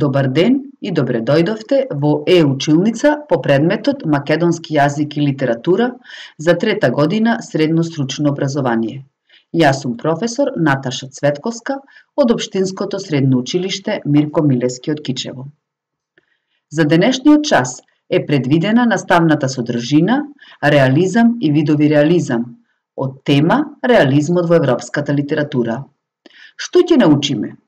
Добар ден и добре дојдовте во училница по предметот Македонски јазик и литература за трета година средно стручно образование. Јас сум професор Наташа Цветковска од Општинското средно училиште Мирко Милевски од Кичево. За денешниот час е предвидена наставната содржина Реализам и видови реализам од тема Реализмот во европската литература. Што ќе научиме?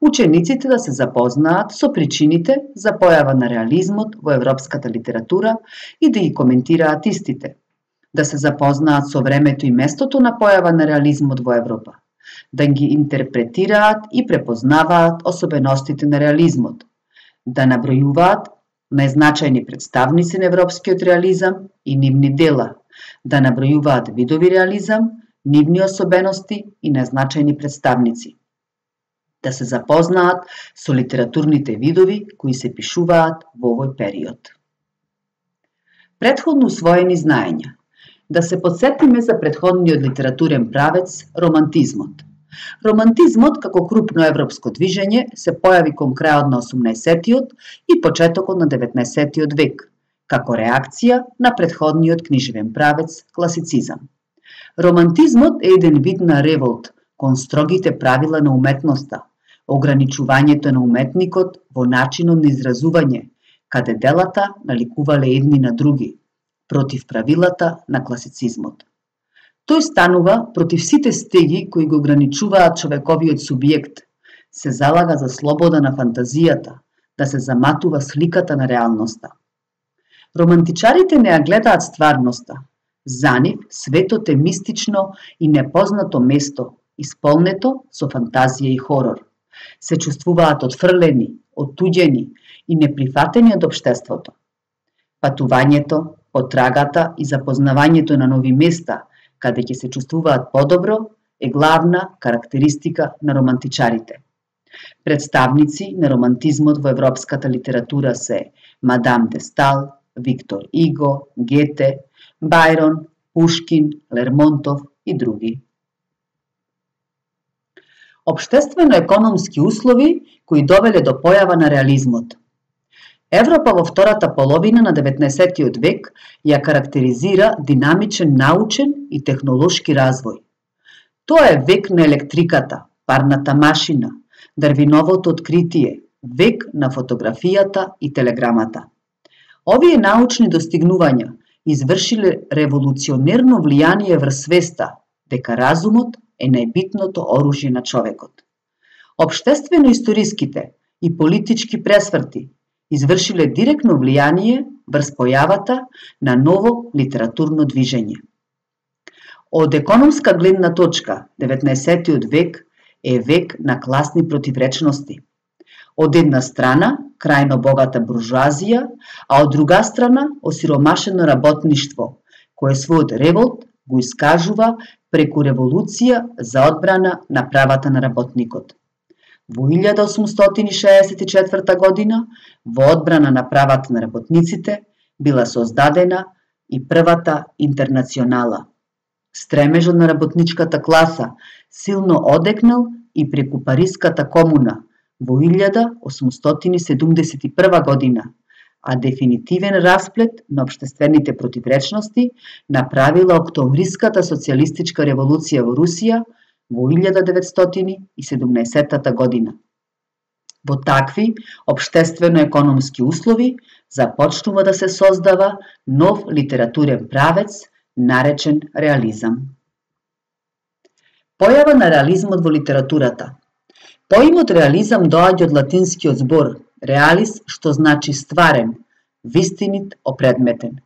Учениците да се запознаат со причините за појава на реализмот во европската литература и да ги коментираат истите, да се запознаат со времето и местото на појава на реализмот во Европа, да ги интерпретираат и препознаваат особеностите на реализмот, да набројуваат најзначајни представници на европскиот реализам и нивни дела, да набројуваат видови реализам, нивни особености и најзначајни представници, да се запознаат со литературните видови кои се пишуваат во овој период. Претходно усвоени знаења. Да се потсетиме за претходниот литературен правец романтизмот. Романтизмот како крупно европско движење се појави кон крајот на 18-тиот и почетокот на 19-тиот век, како реакција на претходниот книжевен правец класицизам. Романтизмот е еден вид на револт кон строгите правила на уметноста, ограничувањето на уметникот во начинот на изразување, каде делата наликувале едни на други, против правилата на класицизмот. Тој станува против сите стеги кои го ограничуваат човековиот субјект, се залага за слобода на фантазијата, да се заматува сликата на реалноста. Романтичарите не ја гледаат стварноста. За нив светот е мистично и непознато место, исполнето со фантазија и хорор. Се чувствуваат отфрлени, оттуѓени и неприфатени од општеството. Патувањето, потрагата и запознавањето на нови места, каде ќе се чувствуваат подобро, е главна карактеристика на романтичарите. Представници на романтизмот во европската литература се Мадам де Стал, Виктор Иго, Гете, Бајрон, Пушкин, Лермонтов и други. Општествено-економски услови кои довеле до појава на реализмот. Европа во втората половина на 19-тиот век ја карактеризира динамичен научен и технолошки развој. Тоа е век на електриката, парната машина, Дарвиновото откритие, век на фотографијата и телеграмата. Овие научни достигнувања извршиле револуционерно влијание врз свеста дека разумот е најбитното оружје на човекот. Општествено-историските и политички пресврти извршиле директно влијание врз појавата на ново литературно движење. Од економска гледна точка, 19-тиот век е век на класни противречности. Од една страна, крајно богата буржуазија, а од друга страна, осиромашено работништво, кое својот револт го искажува преку револуција за одбрана на правата на работникот. Во 1864 година, во одбрана на правата на работниците, била создадена и првата интернационала. Стремежот на работничката класа силно одекнал и преку Париската комуна во 1871 година, а дефинитивен расплет на општествените противречности направила Октомвриската социјалистичка револуција во Русија во 1917 година. Во такви општествено-економски услови започнува да се создава нов литературен правец наречен реализам. Појава на реализмот во литературата. Поимот реализам доаѓа од латинскиот збор реалис, што значи стварен, вистинит, опредметен.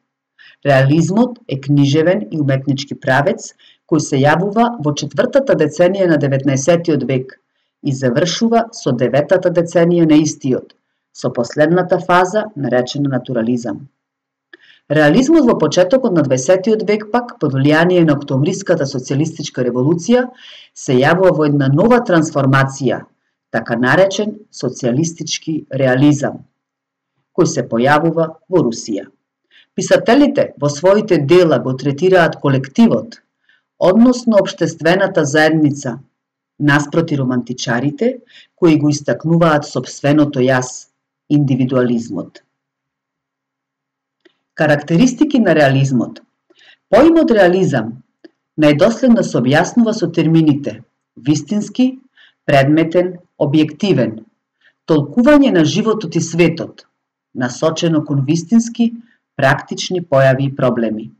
Реализмот е книжевен и уметнички правец кој се јавува во четвртата деценија на 19-тиот век и завршува со 9-та деценија на истиот, со последната фаза наречена натурализам. Реализмот во почетокот на 20-тиот век пак, под влијание на Октомвриската социјалистичка револуција, се јавува во една нова трансформација, така наречен социјалистички реализам, кој се појавува во Русија. Писателите во своите дела го третираат колективот, односно општествената заедница, наспроти романтичарите, кои го истакнуваат сопственото јас, индивидуализмот. Карактеристики на реализмот. Поимот реализам најдоследно се објаснува со термините вистински, предметен, објективен, толкување на животот и светот, насочено кон вистински, практични појави и проблеми.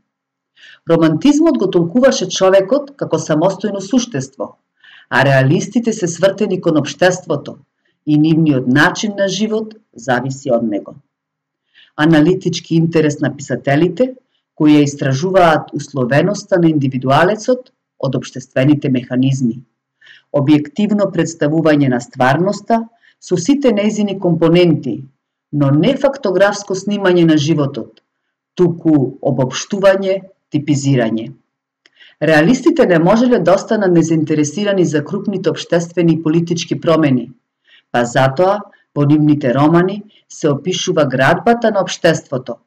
Романтизмот го толкуваше човекот како самостојно суштество, а реалистите се свртени кон општеството и нивниот начин на живот зависи од него. Аналитички интерес на писателите, кои ја истражуваат условеноста на индивидуалецот од општествените механизми, објективно представување на стварноста со сите нејзини компоненти, но не фактографско снимање на животот, туку обобштување, типизирање. Реалистите не можеле да останат незаинтересирани за крупните општествени и политички промени, па затоа во нивните романи се опишува градбата на општеството,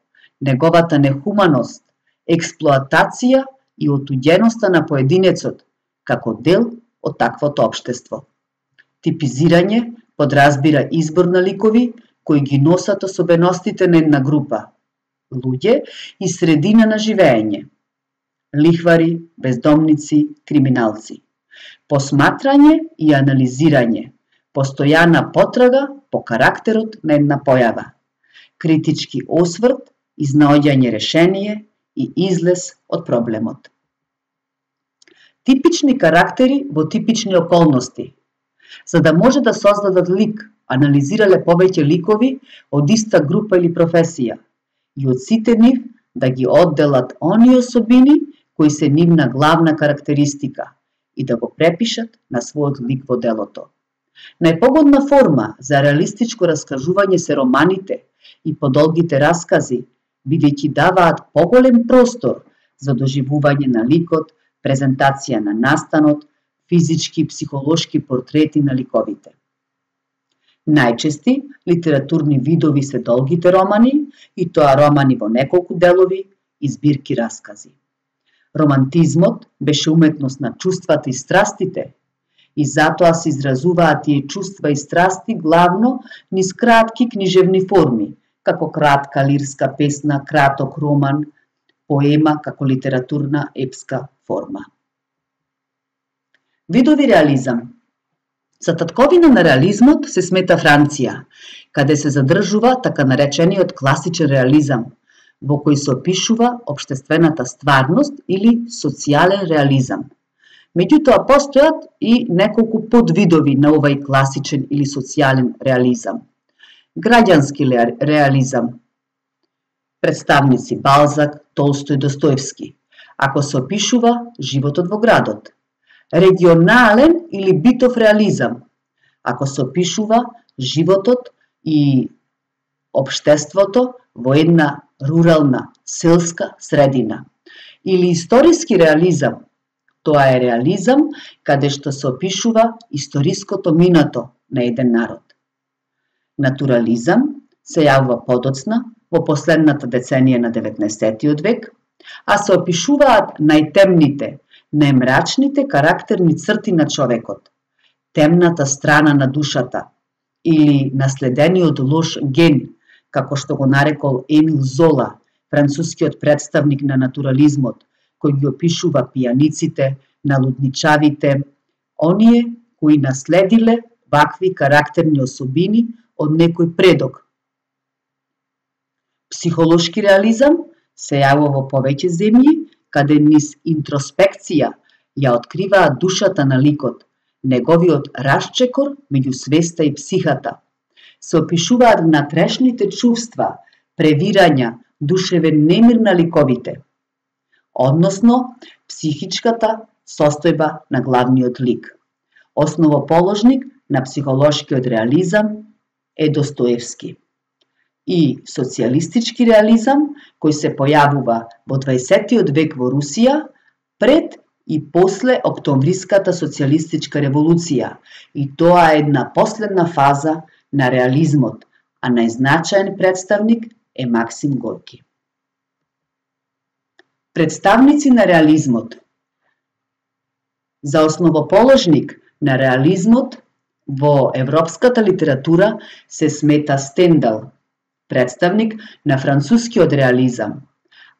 неговата нехуманост, експлоатација и отуѓеноста на поединецот како дел од таквото општество. Типизирање подразбира избор на ликови кои ги носат особеностите на една група, луѓе и средина на живеење, лихвари, бездомници, криминалци. Посматрање и анализирање, постојана потрага по карактерот на една појава, критички осврт, изнаоѓање решение и излез од проблемот. Типични карактери во типични околности. За да може да создадат лик, анализирале повеќе ликови од иста група или професија и од сите нив да ги одделат оние особини кои се нивна главна карактеристика и да го препишат на својот лик во делото. Најпогодна форма за реалистичко раскажување се романите и подолгите раскази, бидејќи даваат поголем простор за доживување на ликот, презентација на настанот, физички и психолошки портрети на ликовите. Најчести литературни видови се долгите романи, и тоа романи во неколку делови и збирки раскази. Романтизмот беше уметност на чувствата и страстите, и затоа се изразуваат тие чувства и страсти главно низ кратки книжевни форми, како кратка лирска песна, краток роман, поема како литературна епска форма. Видови реализам. За татковина на реализмот се смета Франција, каде се задржува така наречениот класичен реализам, во кој се опишува општествената стварност или социјален реализам. Меѓутоа постојат и неколку подвидови на овај класичен или социјален реализам. Граѓански реализам. Представници Балзак, Толстој, Достоевски, ако се опишува животот во градот. Регионален или битов реализам, ако се опишува животот и општеството во една рурална, селска средина. Или историски реализам, тоа е реализам каде што се опишува историското минато на еден народ. Натурализам се јавува подоцна во последната деценија на 19. век, а се опишуваат најтемните, најмрачните карактерни црти на човекот, темната страна на душата или наследениот лош ген, како што го нарекол Емил Зола, францускиот представник на натурализмот, кој ги опишува пијаниците, налудничавите, оние кои наследиле вакви карактерни особини од некој предок. Психолошки реализам се јавува во повеќе земји, каде низ интроспекција ја откриваат душата на ликот, неговиот расчекор меѓу свеста и психата. Се опишуваат внатрешните чувства, превирања, душевен немир на ликовите, односно психичката состојба на главниот лик. Основоположник на психолошкиот реализам е Достоевски. И социјалистички реализам, кој се појавува во 20. век во Русија, пред и после Октомвриската социјалистичка револуција, и тоа е една последна фаза на реализмот, а најзначаен представник е Максим Горки. Представници на реализмот. За основоположник на реализмот Во европската литература се смета Стендал, представник на францускиот реализам,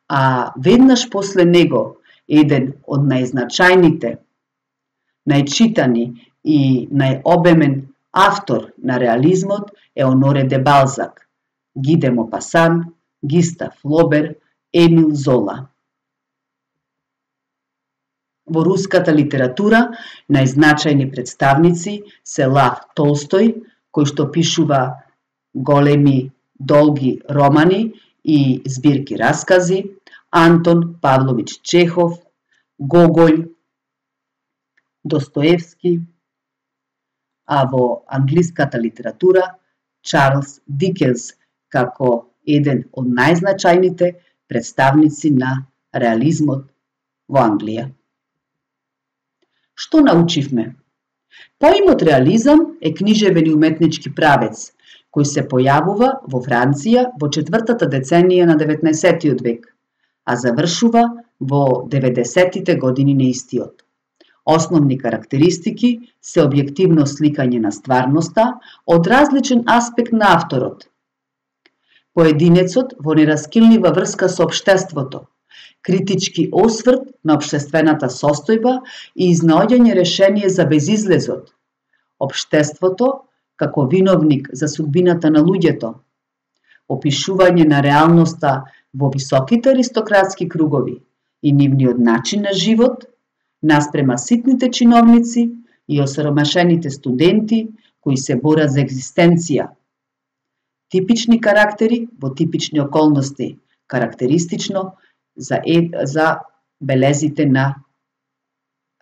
а веднаш после него еден од најзначајните, најчитани и најобемен автор на реализмот е Оноре де Балзак, Ги де Мопасан, Гистав Флобер, Емил Зола. Во руската литература најзначајни представници се Лав Толстој, кој што пишува големи, долги романи и збирки раскази, Антон Павлович Чехов, Гоголј, Достоевски, а во англиската литература Чарлс Дикенс како еден од најзначајните представници на реализмот во Англија. Што научивме? Поимот реализам е книжевен и уметнички правец, кој се појавува во Франција во 4-та деценија на 19-тиот век, а завршува во 90-тите години на истиот. Основни карактеристики се објективно сликање на стварноста од различен аспект на авторот. Поединецот во нераскинлива врска со општеството, критички осврт на општествената состојба и изнаоѓање решение за безизлезот, општеството како виновник за судбината на луѓето, опишување на реалноста во високите аристократски кругови и нивниот начин на живот, наспрема ситните чиновници и осиромашените студенти кои се борат за екзистенција. Типични карактери во типични околности, карактеристично за белезите на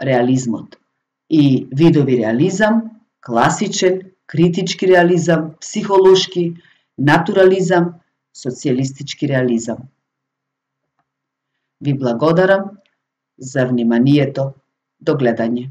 реализмот. И видови реализам, класичен, критички реализам, психолошки, натурализам, социјалистички реализам. Ви благодарам за вниманието. До гледање.